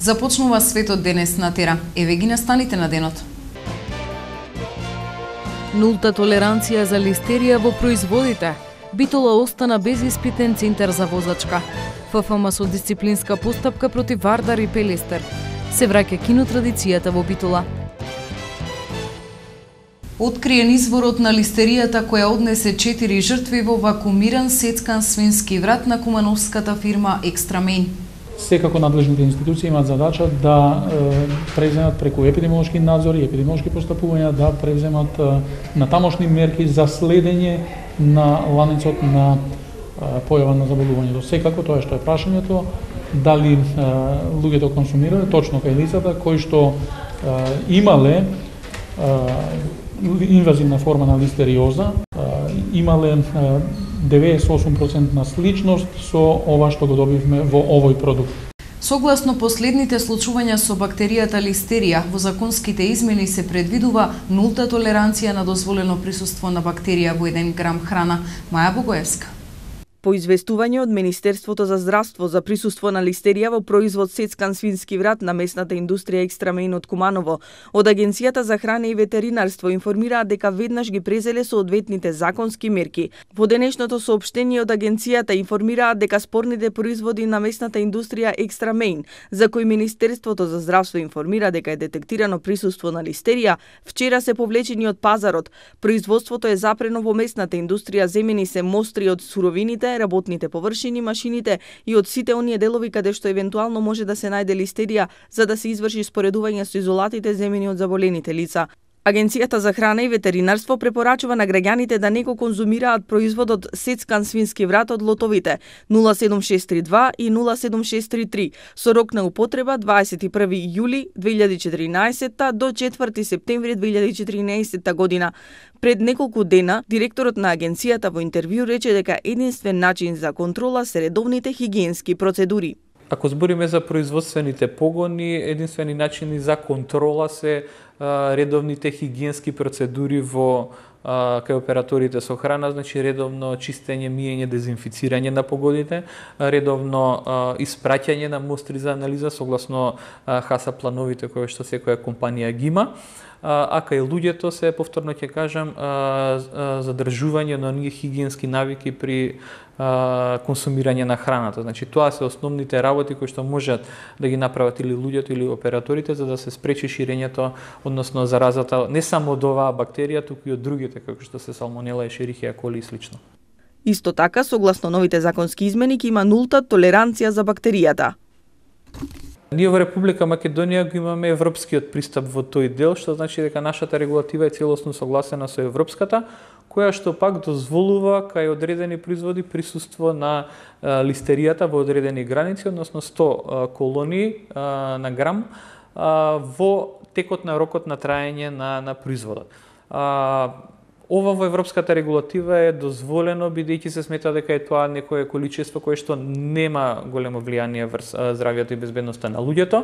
Започнува светот денес на Тера. Еве ги настаните на денот. Нулта толеранција за листерија во производите. Битола остана без испитен центар за возачка. ФФМ со дисциплинска постапка против Вардар и Пелестер. Се враќа кинотрадицијата во Битола. Откриен изворот на листеријата која однесе 4 жртви во вакуумиран сецкан свински врат на кумановската фирма Екстрамейн. Секако надлежните институции имаат задача да преземат преку епидемиолошки надзор и епидемиолошки постапувања да преземат натамошни мерки за следење на ланецот на појава на заболувањето. Секако тоа што е прашањето, дали луѓето консумирале точно кај лицата кои што имале инвазивна форма на листериоза, имале 98% на сличност со ова што го добивме во овој продукт. Согласно последните случувања со бактеријата листерија, во законските измени се предвидува нулта толеранција на дозволено присуство на бактерија во 1 грам храна. Маја Богоевска. По известување од Министерството за здравство за присуство на листерија во производ сецкан свински врат на месната индустрија Екстрамейн од Куманово, од Агенцијата за храна и ветеринарство информираат дека веднаш ги презеле соодветните законски мерки. Во денешното соопштение од Агенцијата информираат дека спорните производи на месната индустрија Екстрамейн, за кои Министерството за здравство информира дека е детектирано присуство на листерија, вчера се повлечени од пазарот. Производството е запрено во месната индустрија, земени се мостри од суровините, работните површини, машините и од сите оние делови каде што евентуално може да се најде листерија за да се изврши споредување со изолатите земени од заболените лица. Агенцијата за храна и ветеринарство препорачува на граѓаните да не го конзумираат производот сецкан свински врат од лотовите 07632 и 07633 со рок на употреба 21 јули 2014 до 4 септември 2014 година. Пред неколку дена, директорот на агенцијата во интервју рече дека единствен начин за контрола се редовните хигиенски процедури. Ако збориме за производствените погони, единствени начини за контрола се редовните хигиенски процедури во кај операторите со храна, значи редовно чистење, миење, дезинфицирање на погодите, редовно испраќање на мостри за анализа согласно ХАСА плановите кои што секоја компанија ги има. А кај луѓето се, повторно ќе кажам, задржување на оние хигиенски навики при консумирање на храната. Значи тоа се основните работи кои што можат да ги направат или луѓето или операторите за да се спречи ширењето, односно заразата не само од оваа бактерија, туку и од другите како што се салмонела, ешерихија коли и слично. Исто така, согласно новите законски измени, ќе има нулта толеранција за бактеријата. Ние во Република Македонија го имаме европскиот пристап во тој дел, што значи дека нашата регулатива е целосно согласена со европската, која што пак дозволува кај одредени производи присуство на листеријата во одредени граници, односно 100 колонии на грам во текот на рокот на траење на производот. Ова во европската регулатива е дозволено бидејќи се смета дека е тоа некое количество кое што нема големо влијание врз здравјето и безбедноста на луѓето.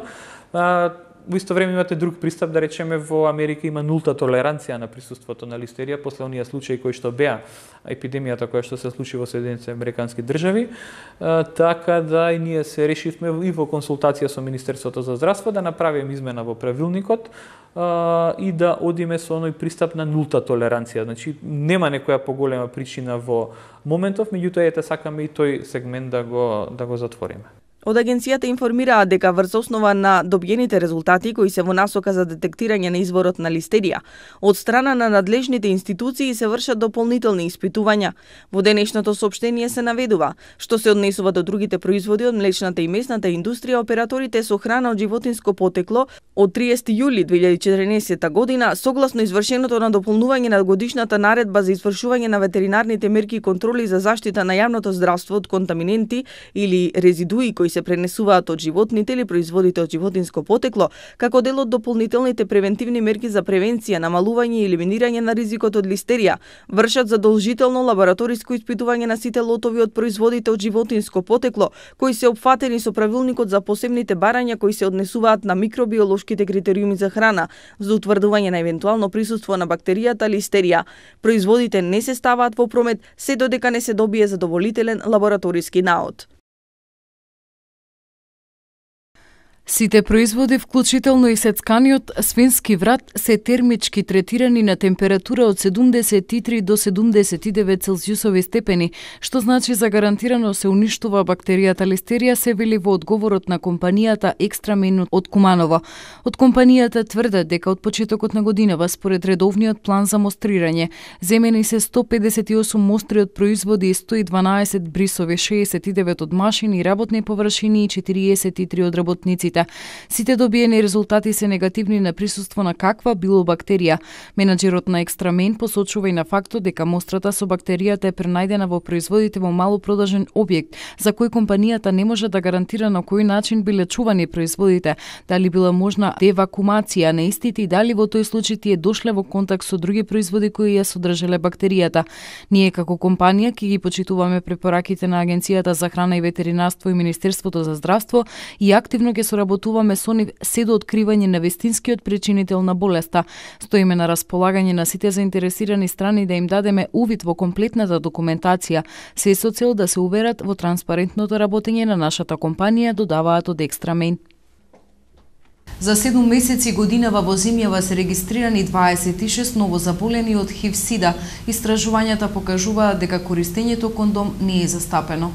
Во исто време имате друг пристап, да речеме во Америка има нулта толеранција на присуството на листерија после оние случаи кои што беа епидемијата која што се случи во Соединетите американски држави, така да и ние се решивме и во консултација со Министерството за здравство да направиме измена во правилникот и да одиме со оној пристап на нулта толеранција. Значи нема некоја поголема причина во моментов, меѓутоа ете сакаме и тој сегмент да го затвориме. Од агенцијата информираат дека врз основа на добиените резултати кои се во насока за детектирање на изворот на листерија, од страна на надлежните институции се вршат дополнителни испитувања. Во денешното соопштение се наведува, што се однесува до другите производи од млечната и месната индустрија, операторите со храна од животинско потекло од 30 јули 2014 година, согласно извршеното на дополнување на годишната наредба за извршување на ветеринарните мерки и контроли за заштита на јавното здравство од контаминенти или резидуи кои се пренесуваат од животните или производите од животинско потекло, како дел од дополнителните превентивни мерки за превенција, намалување и елиминирање на ризикот од листерија, вршат задолжително лабораториско испитување на сите лотови од производите од животинско потекло, кои се опфатени со правилникот за посебните барања кои се однесуваат на микробиолошките критериуми за храна, за утврдување на евентуално присуство на бактеријата листерија. Производите не се ставаат во промет се додека не се добие задоволителен лабораториски наод. Сите производи, вклучително и сецканиот свински врат, се термички третирани на температура од 73 до 79 целзиусови степени, што значи за гарантирано се уништува бактеријата листерија, се вели во одговорот на компанијата Екстрамейн од Куманово. Од компанијата тврдат дека од почетокот на годинава, според редовниот план за мострирање, земени се 158 мостри од производи и 112 брисови, 69 од машини и работни површини и 43 од работниците. Сите добиени резултати се негативни на присуство на каква било бактерија. Менаџерот на Екстрамейн посочува и на фактот дека мострата со бактеријата е пренајдена во производите во малопродажен објект, за кој компанијата не може да гарантира на кој начин биле чувани производите, дали била можна девакумација на истите и дали во тој случај тие дошле во контакт со други производи кои ја содржале бактеријата. Ние како компанија ќе ги почитуваме препораките на Агенцијата за храна и ветеринарство и Министерството за здравство и активно ќе соработуваме со нив се до откривање на вистинскиот причинител на болеста. Стоиме на располагање на сите заинтересирани страни да им дадеме увид во комплетната документација, се со цел да се уверат во транспарентното работење на нашата компанија, додаваат од Екстрамейн. За 7 месеци годинава во земјава се регистрирани 26 новозаболени од ХИВ-СИДА. Истражувањата покажуваат дека користењето кондом не е застапено.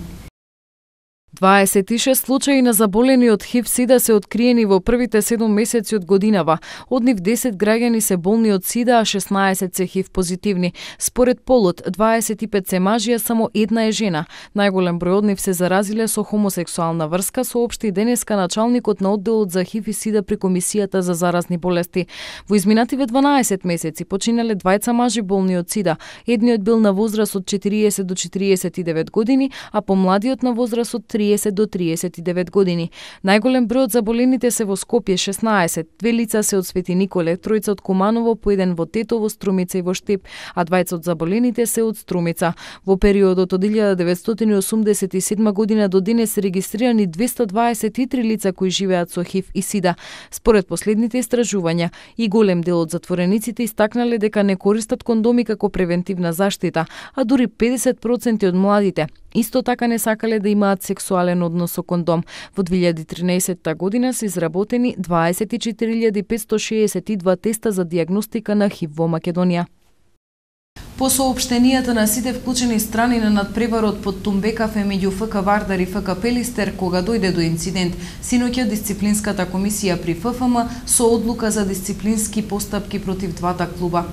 26 случаи на заболени од ХИВ-СИДА се откриени во првите 7 месеци од годинава. Од нив 10 граѓани се болни од СИДА, а 16 се ХИВ позитивни. Според полот, 25 се мажи, а само една е жена. Најголем број од нив се заразиле со хомосексуална врска, соопшти денеска началникот на одделот за ХИВ и СИДА при Комисијата за заразни болести. Во изминативе 12 месеци починале двајца мажи болни од СИДА. Едниот бил на возраст од 40 до 49 години, а помладиот на возраст од 30 до 39 години. Најголем број од заболените се во Скопје 16, 2 лица се од Свети Николе, 3 од Куманово, по 1 во Тетово, Струмица и во Штип, а 2 од заболените се од Струмица. Во периодот од 1987 година до денес се регистрирани 223 лица кои живеат со ХИВ и СИДА. Според последните истражувања, и голем дел од затворениците истакнале дека не користат кондоми како превентивна заштита, а дури 50% од младите исто така не сакале да имаат сексуален однос со кондом. Во 2013 година се изработени 24.562 теста за дијагностика на ХИВ во Македонија. По соопштенијата на сите вклучени страни на надпреварот под Тумбекафе меѓу ФК Вардар и ФК Пелистер, кога дојде до инцидент, синоќа дисциплинската комисија при ФФМ со одлука за дисциплински постапки против двата клуба.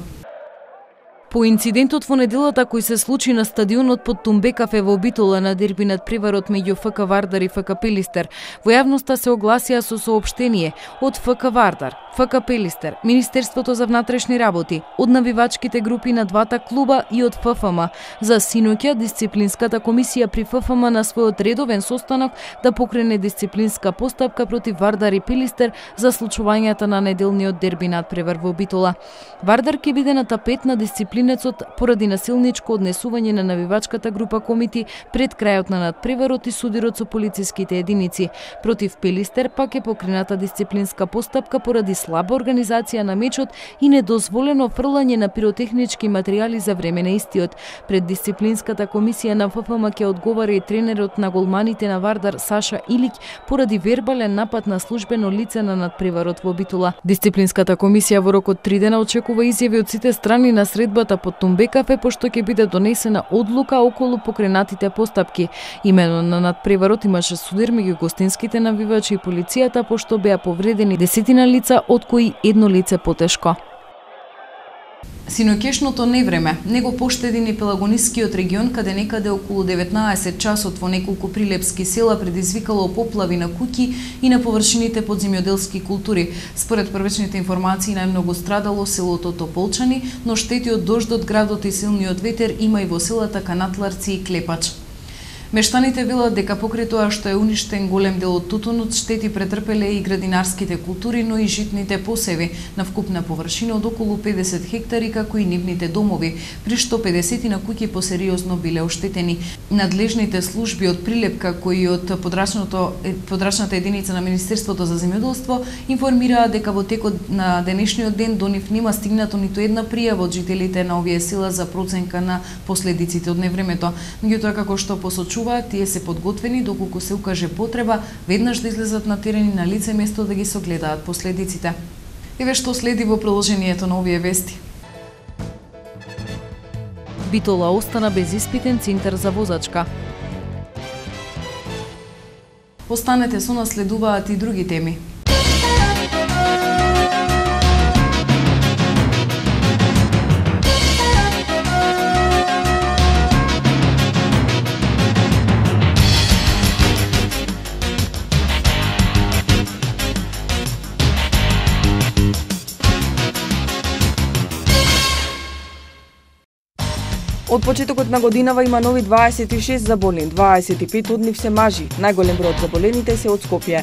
По инцидентот во неделата кој се случи на стадионот под Тумбекафе во Битола на дерби надпреварот меѓу ФК Вардар и ФК Пелистер, во јавноста се огласија со соопштение од ФК Вардар, ФК Пелистер, Министерството за внатрешни работи, од навивачките групи на двата клуба и од ФФМ. За синоќа дисциплинската комисија при ФФМ на својот редовен состанок да покрене дисциплинска постапка против Вардар и Пелистер за случувањата на неделниот дерби надпревар во Битола. Вардар ќе биде на тапет на дисциплинецот поради насилничко однесување на навивачката група комити пред крајот на надпреварот и судирот со полициските единици. Против Пелистер пак е покрената дисциплинска постапка поради слаба организација на мечот и недозволено фрлање на пиротехнички материјали за време на истиот. Пред дисциплинската комисија на ФФМ ќе одговара и тренерот на голманите на Вардар Саша Илик поради вербален напад на службено лице на надпреварот во Битола. Дисциплинската комисија во рок од 3 дена очекува изјави од сите страни на средбата под Тумбекафе, пошто ќе биде донесена одлука околу покренатите постапки. Имено на надпреварот имаше судир меѓу гостинските навивачи и полицијата, пошто беа повредени 10 лица, од кои едно лице потешко. Синоќешното невреме не го поштеди ни Пелагонискиот регион, каде некаде околу 19 часот во неколку прилепски села предизвикало поплави на куќи и на површините под земјоделски култури. Според првичните информации, најмногу страдало селото Тополчани, но штети од дождот, градот и силниот ветер има и во селата Канатларци и Клепач. Мештаните велат дека покрај тоа што е уништен голем дел од тутунот, штети претрпеле и градинарските култури, но и житните посеви на вкупна површина од околу 50 хектари, како и нивните домови, при што 50 на куќи посериозно биле оштетени. Надлежните служби од Прилепка, кои од подрачната единица на Министерството за земјоделство информираа дека во текот на денешниот ден до нив нема стигнато ниту една пријава од жителите на овие села за проценка на последиците од невремето. Меѓутоа, како што посочува препорачуваат тие се подготвени доколку се укаже потреба веднаш да излезат на терен и на лице место да ги согледаат последиците. Еве што следи во приложението на овие вести. Битола остана без испитен центар за возачка. Останете со нас, следуваат и други теми. Од почетокот на годинава има нови 26 заболени, 25 од нив се мажи. Најголем број од заболените се од Скопје.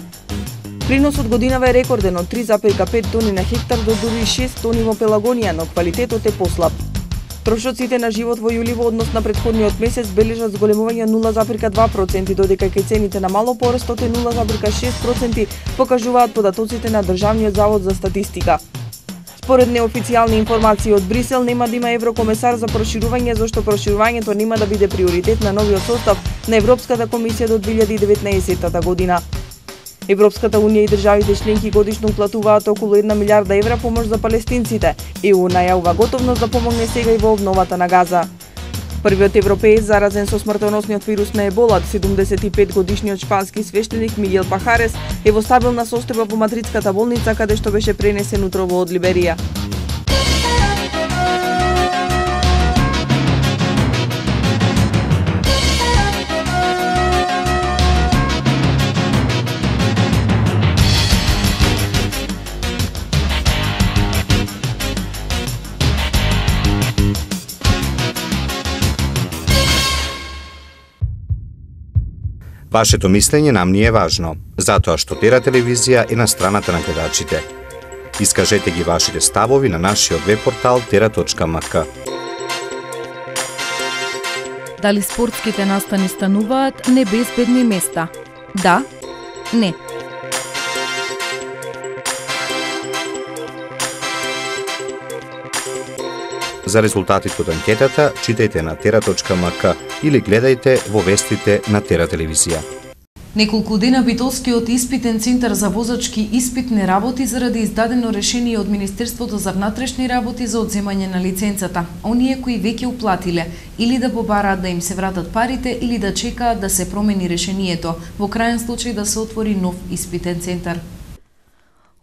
Приносот годинава е рекорден од 3,5 тони на хектар до дури 6 тони во Пелагонија, но квалитетот е послаб. Трошоците на живот во јули во однос на претходниот месец бележат зголемување 0,2%, додека кај цените на мало порастот е 0,6%, покажуваат податоците на Државниот завод за статистика. Според неофицијални информации од Брисел, нема да има еврокомесар за проширување, зашто проширувањето нема да биде приоритет на новиот состав на Европската комисија до 2019 година. Европската унија и државите членки годишно уплатуваат околу 1 милиарда евра помош за палестинците. ЕУ најавува готовност да помогне сега и во обновата на Газа. Првиот европеец заразен со смртоносниот вирус на Ебола, 75-годишниот шпански свештеник Мигел Пахарес, е во стабилна состојба во мадридската болница, каде што беше пренесен утрово од Либерија. Вашето мислење нам ни е важно, затоа што Тера телевизија е на страната на гледачите. Искажете ги вашите ставови на нашиот веб-портал tera.mk. Дали спортските настани стануваат небезбедни места? Да? Не. За резултатите од анкетата, читајте на tera.mk или гледајте во вестите на Тера телевизија. Неколку дена Битолскиот испитен центар за возачки испит не работи заради издадено решение од Министерството за внатрешни работи за одземање на лиценцата. Оние кои веќе уплатиле или да побараат да им се вратат парите или да чекаат да се промени решението, во крајен случај да се отвори нов испитен центар.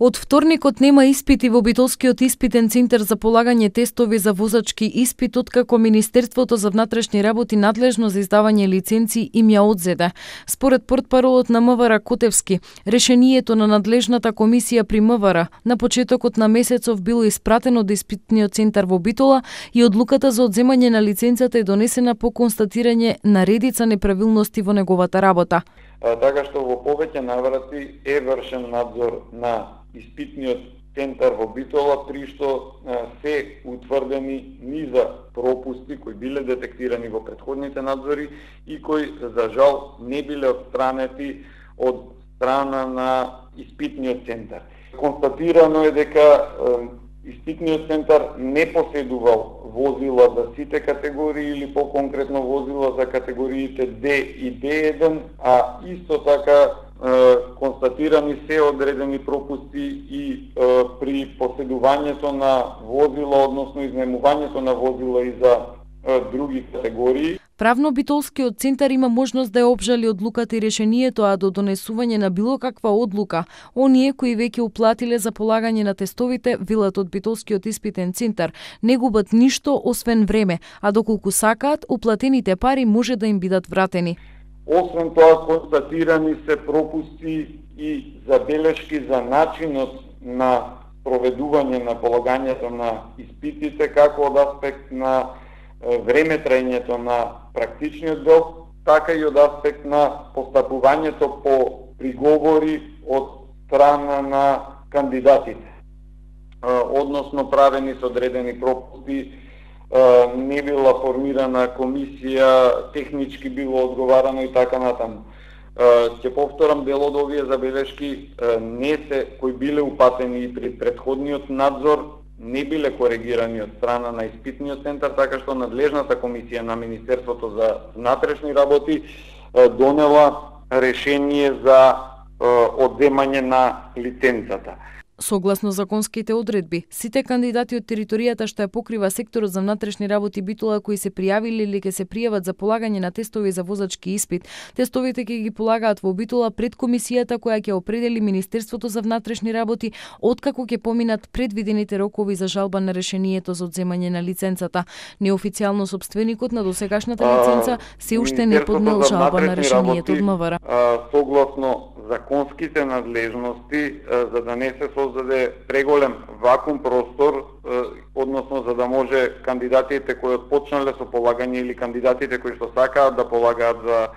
Од вторникот нема испити во Битолскиот испитен центар за полагање тестови за возачки испит, откако Министерството за внатрешни работи надлежно за издавање лиценци им ја одзеде. Според портпаролот на МВР Котевски, решението на надлежната комисија при МВР на почетокот на месецов било испратено до испитниот центар во Битола и одлуката за одземање на лиценцата е донесена по констатирање на редица неправилности во неговата работа. Така што во повеќе наврати е вршен надзор на испитниот центар во Битола, при што се утврдени низа пропусти кои биле детектирани во претходните надзори и кои за жал не биле отстранети од страна на испитниот центар. Констатирано е дека испитниот центар не поседувал возила за сите категории или по-конкретно возила за категориите D и D1, а исто така констатирани се одредени пропусти и при поседувањето на возила, односно изнемувањето на возила и за други категории. Правно Битолскиот центар има можност да ја обжали одлуката и решението, а до донесување на било каква одлука, оние кои веќе уплатиле за полагање на тестовите, велат од Битолскиот испитен центар, не губат ништо освен време, а доколку сакаат, уплатените пари може да им бидат вратени. Освен тоа, констатирани се пропусти и забелешки за начинот на проведување на полагањето на испитите, како од аспект на време траењето на практичниот дел, така и од аспект на постапувањето по приговори од страна на кандидатите. Односно, правени со одредени пропусти, не била формирана комисија, технички било одговарано и така натаму. Ќе повторам, дел од овие забелешки не се кои биле упатени и при претходниот надзор, не биле коригирани од страна на испитниот центар, така што надлежната комисија на Министерството за внатрешни работи донела решение за одземање на лиценцата. Согласно законските одредби, сите кандидати од територијата што ја покрива секторот за внатрешни работи Битола кои се пријавиле или ќе се пријават за полагање на тестови за возачки испит, тестовите ќе ги полагаат во Битола пред комисијата која ќе определи Министерството за внатрешни работи откако ќе поминат предвидените рокови за жалба на решението за одземање на лиценцата. Неофицијално сопственикот на досегашната лиценца се уште не поднел жалба на решението од МВР. Согласно законските надлежности, за да не се создаде преголем вакуум простор, односно за да може кандидатите кои отпочнале со полагање или кандидатите кои што сакаат да полагаат за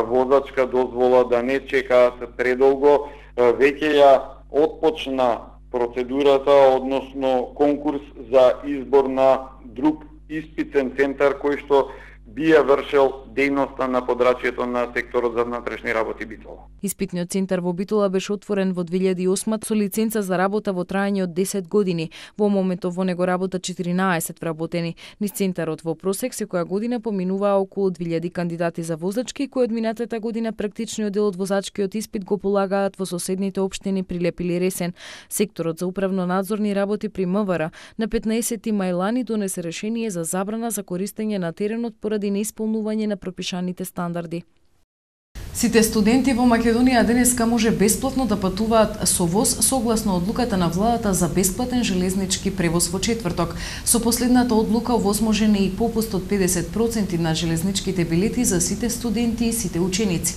возачка дозвола да не чекаат предолго, веќе ја отпочна процедурата, односно конкурс за избор на друг испитен центар кој што би ја вршел дејноста на подрачјето на секторот за внатрешни работи Битола. Испитниот центар во Битола беше отворен во 2008 со лиценца за работа во траење од 10 години. Во моментов во него работат 14 вработени. Низ центарот во просек секоја година поминуваа околу 2000 кандидати за возачки кои од минатата година практичниот дел од возачкиот испит го полагаат во соседните општини Прилеп или Ресен. Секторот за управно-надзорни работи при МВР на 15 мај лани донесе решение за забрана за користење на теренот поради неисполнување на пропишаните стандарди. Сите студенти во Македонија денеска може бесплатно да патуваат со воз согласно одлуката на владата за бесплатен железнички превоз во четврток. Со последната одлука возможен е и попуст од 50% на железничките билети за сите студенти и сите ученици.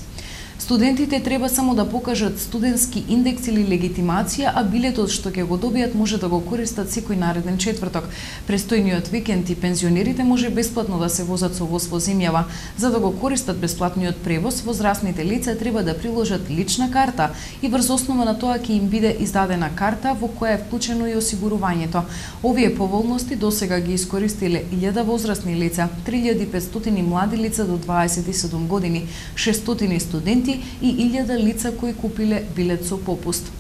Студентите треба само да покажат студентски индекс или легитимација, а билетот што ќе го добијат може да го користат секој нареден четврток. Престојниот викенд и пензионерите може бесплатно да се возат со воз во земјава. За да го користат бесплатниот превоз, возрастните лица треба да приложат лична карта и врз основа на тоа ќе им биде издадена карта во која е вклучено и осигурувањето. Овие поволности досега ги искористиле 1000 возрастни лица, 3500 млади лица до 27 години, 600 студенти и 1000 лица кои купиле билет со попуст.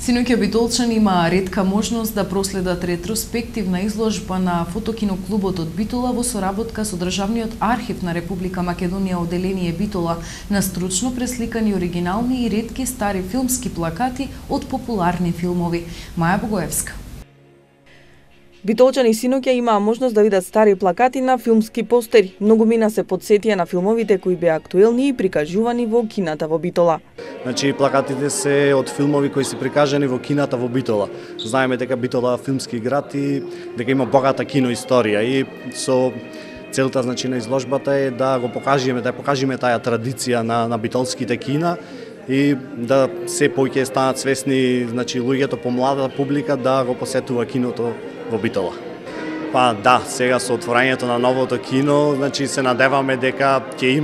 Синоќа битолчани имаа ретка можност да проследат ретроспективна изложба на фотокиноклубот од Битола во соработка со Државниот архив на Република Македонија одделение Битола на стручно пресликани оригинални и ретки стари филмски плакати од популарни филмови. Маја Богоевска. Битолчани синоќа имаа можност да видат стари плакати на филмски постери. Многумина се потсетија на филмовите кои беа актуелни и прикажувани во кината во Битола. Значи плакатите се од филмови кои се прикажани во кината во Битола. Знаеме дека Битола филмски град и дека има богата киноисторија и со целта значи на изложбата е да го покажеме, да покажеме таа традиција на битолските кина и да се повеќе станат свесни, значи луѓето помладата публика да го посетува киното во Битола. Па да, сега со отворањето на новото кино, значи се надеваме дека ќе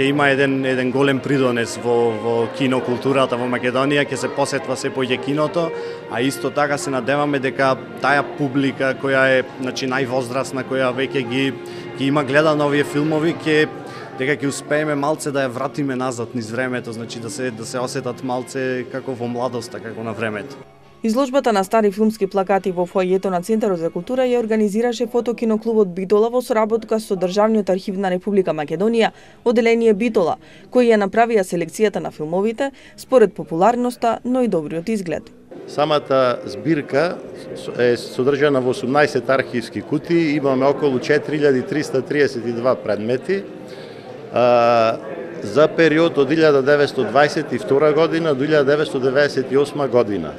има еден голем придонес во кинокултурата во Македонија, ќе се посетва се повеќе киното, а исто така се надеваме дека таа публика која е значи највозрасна, која веќе ги има гледано овие филмови, дека ќе успееме малце да ја вратиме назад низ времето, значи да се осетат малце како во младоста, како на времето. Изложбата на стари филмски плакати во фоајето на Центарот за култура ја организираше фотокиноклубот Битола во соработка со Државниот архив на Република Македонија, одделение Битола, кои ја направија селекцијата на филмовите според популарноста, но и добриот изглед. Самата збирка е содржана во 18 архивски кутии, имаме околу 4332 предмети за период од 1922 година до 1998 година.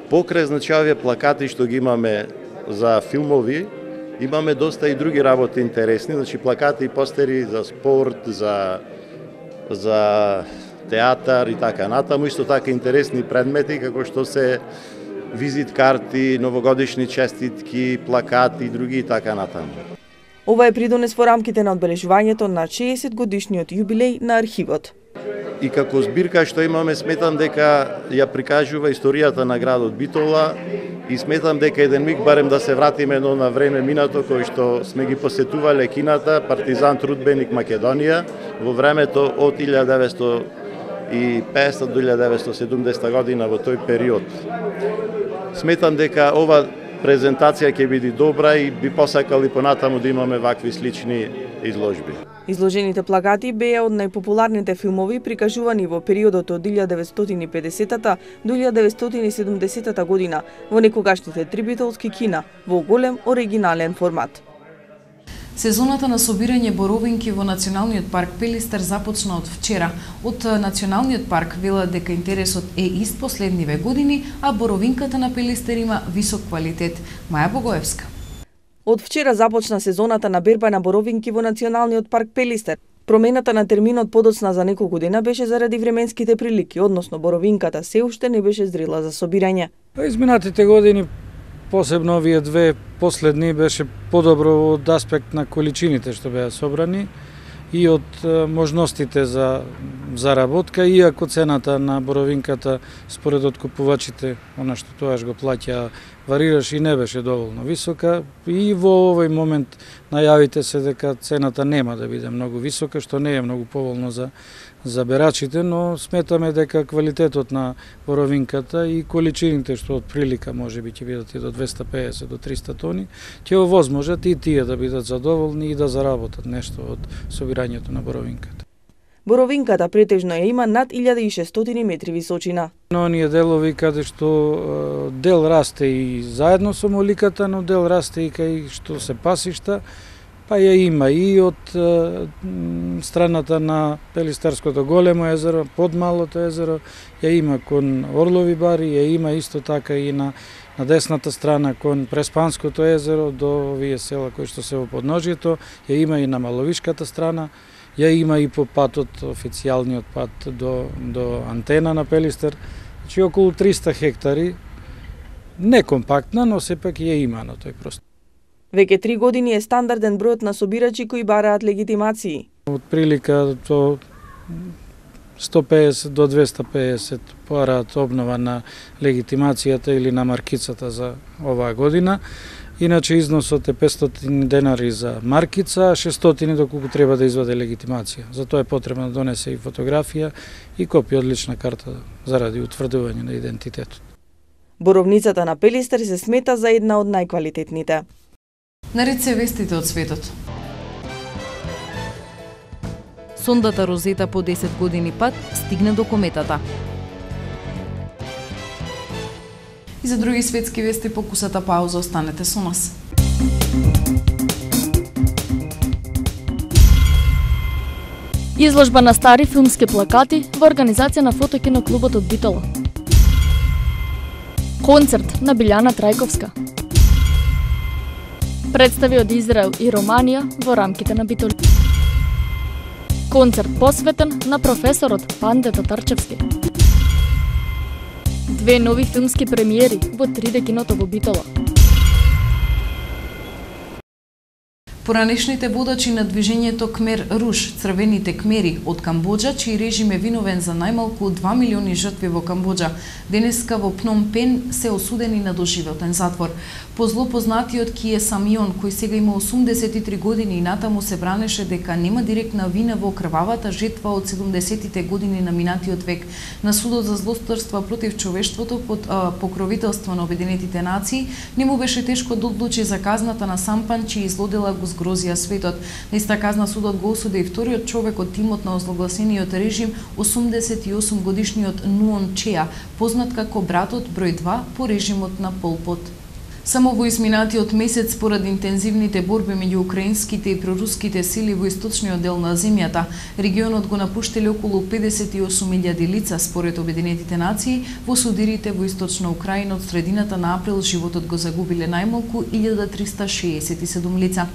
Покрај значи овие плакати што ги имаме за филмови, имаме доста и други работи интересни, значи плакати и постери за спорт, за театар и така натаму, исто така интересни предмети како што се визит карти, новогодишни честитки, плакати и други и така натаму. Ова е придонес во рамките на одбележувањето на 60 годишниот јубилеј на архивот. И како збирка што имаме, сметам дека ја прикажува историјата на градот Битола и сметам дека еден миг барем да се вратиме на време минато кој што сме ги посетувале кината Партизан трудбеник Македонија во времето од 1950 до 1970 година во тој период. Сметам дека ова презентација ќе биде добра и би посакал и понатаму да имаме вакви слични изложби. Изложените плакати беа од најпопуларните филмови прикажувани во периодот од 1950-та до 1970-та година во некогашните три битолски кина во голем оригинален формат. Сезоната на собирање боровинки во Националниот парк Пелистер започна од вчера. Од Националниот парк велат дека интересот е ист последниве години, а боровинката на Пелистер има висок квалитет. Маја Богоевска. Од вчера започна сезоната на берба на боровинки во Националниот парк Пелистер. Промената на терминот подоцна за неколку дена беше заради временските прилики, односно боровинката се уште не беше зрела за собирање. Изминатите години, посебно овие две последни, беше подобро од аспект на количините што беа собрани и од можностите за заработка, иако цената на боровинката според откупувачите, она што тоаш го плаќа, варираше и не беше доволно висока, и во овој момент најавите се дека цената нема да биде многу висока, што не е многу поволно за берачите, но сметаме дека квалитетот на боровинката и количините што од прилика може би ќе бидат и до 250 до 300 тони, ќе овозможат и тие да бидат задоволни и да заработат нешто од собирањето на боровинката. Боровинката претежно ја има над 1600 метри височина. Но оние делови каде што дел расте и заедно со моликата, но дел расте и кај што се пасишта, па ја има и од страната на Пелистерското големо езеро, под малото езеро, ја има кон Орлови бари, ја има исто така и на десната страна кон Преспанското езеро до овие села кои што се во подножието, ја има и на Маловишката страна, ја има и по патот, официјалниот пат до антена на Пелистер, значи околу 300 хектари, не компактна, но сепак ја има на тој простор. Веќе 3 години е стандарден бројот на собирачи кои бараат легитимации. Од прилика до 150 до 250 бараат обнова на легитимацијата или на маркицата за оваа година. Иначе износот е 500 денари за маркица, 600 доколку треба да изваде легитимација. Затоа е потребно да донесе и фотографија и копија од лична карта заради утврдување на идентитетот. Боровницата на Пелистер се смета за една од најквалитетните. Наред се вестите од светот. Сондата Розета по 10 години пат стигна до кометата. И за други светски вести по кусата пауза, останете со нас. Изложба на стари филмски плакати во организација на Фотокино клубот од Битола. Концерт на Билјана Трајковска. Представи од Израел и Романија во рамките на Битола. Концерт посветен на професорот Панде Татарчевски. Две нови филмски премиери во 3D киното во Битола. Поранешните водачи на движењето Кмер Руш, црвените кмери од Камбоџа, чиј режим е виновен за најмалку 2 милиони жртви во Камбоџа, денеска во Пном Пен се осудени на доживотен затвор. По зло познатиот Кие Самион, кој сега има 83 години и натаму се бранеше дека нема директна вина во крвавата жетва од 70-тите години на минатиот век на судот за злосторства против човештвото под покровителство на Обединетите нации, не му беше тешко да одлучи за казната на Сампан, чиј злодела го згрозија светот. На иста казна судот го осуди и вториот човек од тимот на озлогласениот режим, 88 годишниот Нуон Чеа, познат како братот број 2 по режимот на Пол Пот. Само во изминатиот месец, поради интензивните борби меѓу украинските и проруските сили во источниот дел на земјата, регионот го напуштиле околу 58.000 лица, според Обединетите нации. Во судирите во источна Украина од средината на април животот го загубиле најмалку 1367 лица.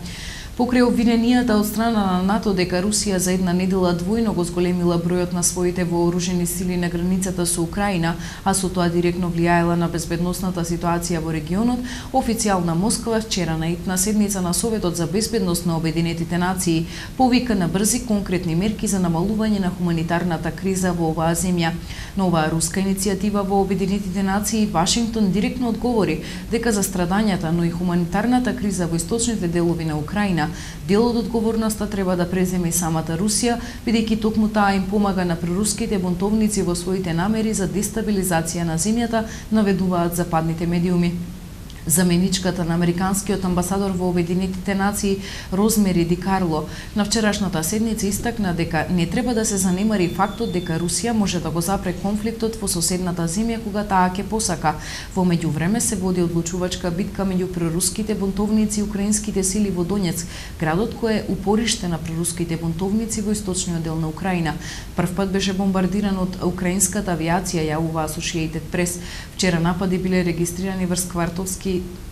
Покрај обвиненијата од страна на НАТО дека Русија за една недела двојно го зголемила бројот на своите вооружени сили на границата со Украина, а со тоа директно влијаела на безбедносната ситуација во регионот, официјална Москва вчера на итна седница на Советот за безбедност на Обединетите нации повика на брзи конкретни мерки за намалување на хуманитарната криза во оваа земја. На оваа руска иницијатива во Обединетите нации, Вашингтон директно одговори дека за страдањата, но и хуманитарната криза во источните делови на Украина, дел од одговорноста треба да преземе и самата Русија, бидејќи токму таа им помага на проруските бунтовници во своите намери за дестабилизација на земјата, наведуваат западните медиуми. Заменичката на американскиот амбасадор во Обединетите нации Розмери Ди Карло на вчерашната седница истакна дека не треба да се занемари фактот дека Русија може да го запре конфликтот во соседната земја кога таа ќе посака. Во меѓувреме се води одлучувачка битка меѓу проруските бунтовници и украинските сили во Донецк, градот кој е упориште на проруските бунтовници во источниот дел на Украина. Првпат беше бомбардиран од украинската авиација, јавува Associated Press. Вчера напади биле регистрирани врз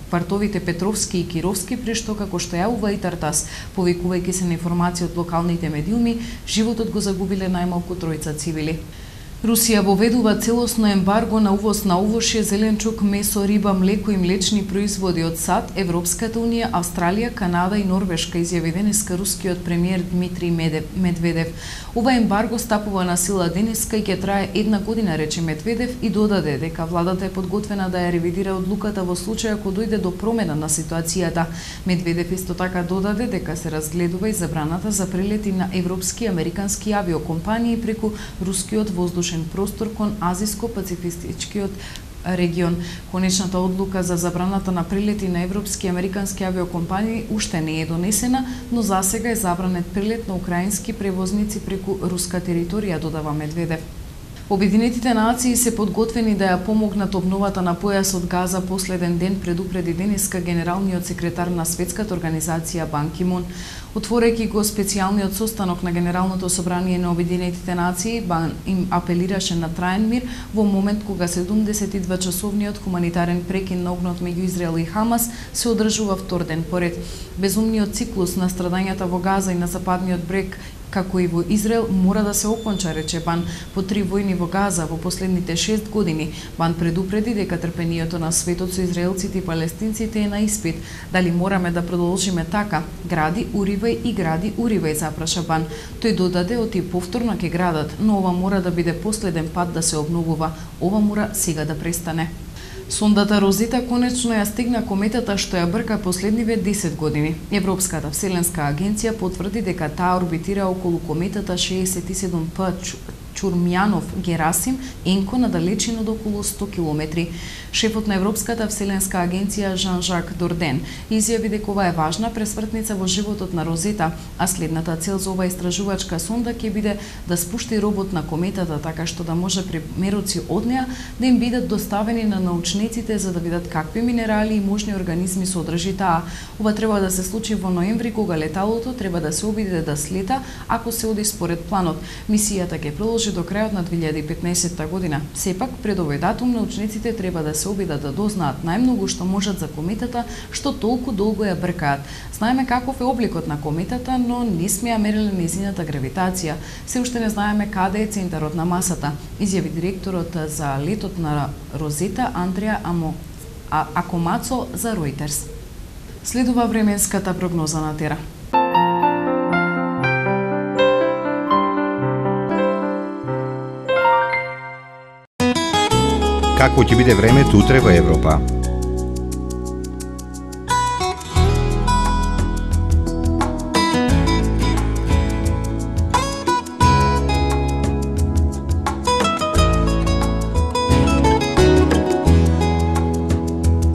квартовите Петровски и Кировски, при што, како што јавува и Тартас, повикувајќи се на информација од локалните медиуми, животот го загубиле најмалку 3 цивили. Русија воведува целосно ембарго на увоз на овошје, зеленчук, месо, риба, млеко и млечни производи од САД, Европската унија, Австралија, Канада и Норвешка, изјави денеска рускиот премиер Дмитрий Медведев. Ова ембарго стапува на сила денеска и ќе трае 1 година, рече Медведев, и додаде дека владата е подготвена да ја ревидира одлуката во случај ако дојде до промена на ситуацијата. Медведев исто така додаде дека се разгледува и забраната за прелети на европски и американски авиокомпании преку рускиот воздушен простор кон Азиско-пацифичкиот регион. Конечната одлука за забраната на прелети на европски и американски авиокомпании уште не е донесена, но засега е забранет прелет на украински превозници преку руска територија, додава Медведев. Обединетите нации се подготвени да ја помогнат обновата на појасот Газа последен ден, предупреди денеска генералниот секретар на Светската организација Бан Ки Мун. Отворејќи го специјалниот состанок на Генералното собрание на Обединетите нации, Бан им апелираше на траен мир во момент кога 72-часовниот хуманитарен прекин на огнот меѓу Израел и Хамас се одржува втор ден поред. Безумниот циклус на страдањата во Газа и на западниот брег, како и во Израел, мора да се оконча, рече Бан. По 3 војни во Газа во последните 6 години, Бан предупреди дека трпението на светот со израелците и палестинците е на испит. Дали мораме да продолжиме така? Гради, уривај и гради, уривај, запраша Бан. Тој додаде оти повторно ќе градат, но ова мора да биде последен пат да се обновува. Ова мора сега да престане. Сондата Розета конечно ја стигна кометата што ја брка последниве 10 години. Европската вселенска агенција потврди дека таа орбитира околу кометата 67P Чурмјанов-Герасим, енко на далечина од околу 100 километри. Шефот на Европската вселенска агенција Жан-Жак Дорден изјави дека ова е важна пресвртница во животот на Розета, а следната цел за оваа истражувачка сонда ќе биде да спушти робот на кометата така што да може примероци од неа да им бидат доставени на научниците за да видат какви минерали и можни организми содржи таа. Ова треба да се случи во ноември кога леталото треба да се обиде да слета ако се оди според планот. Мисијата ќе продолжи до крајот на 2015 година. Сепак, пред овој датум, научниците треба да се обидат да дознаат најмногу што можат за кометата, што толку долго ја бркаат. Знаеме каков е обликот на кометата, но не сме ја мериле нејзината гравитација. Се уште не знаеме каде е центарот на масата, изјави директорот за летот на Розета Андреа Акомацо за Reuters. Следува временската прогноза на Тера. Какво ќе биде времето утре во Европа?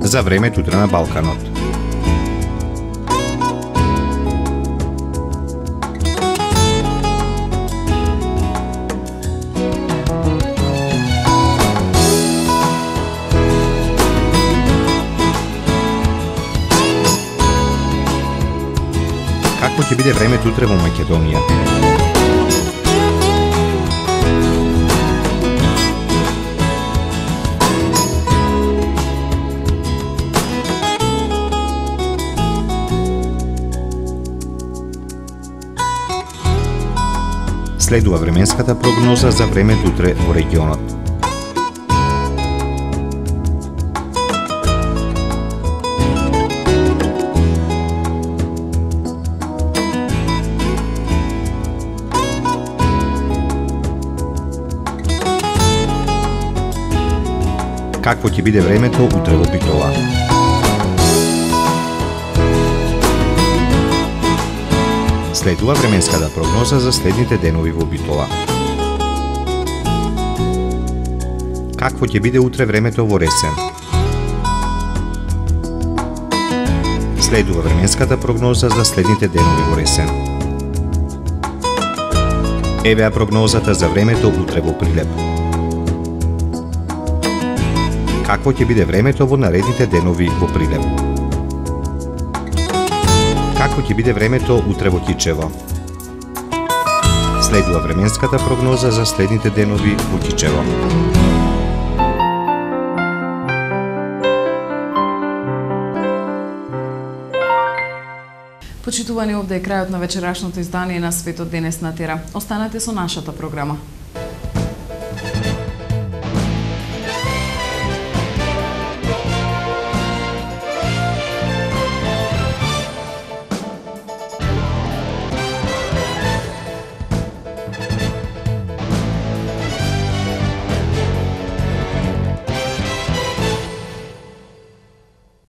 За времето утре на Балканот. Какво ќе биде времето утре во Македонија? Следува временската прогноза за времето утре во регионот. Какво ќе биде времето утре во Битола? Следува временската прогноза за следните денови во Битола. Какво ќе биде утре времето во Ресен? Следува временската прогноза за следните денови во Ресен. Еве прогнозата за времето утре во Прилеп. Какво ќе биде времето во наредните денови во Прилеп? Како ќе биде времето утре во Кичево? Следува временската прогноза за следните денови во Кичево. Почитувани, овде е крајот на вечерашното издание на Светот денес на Тера. Останете со нашата програма.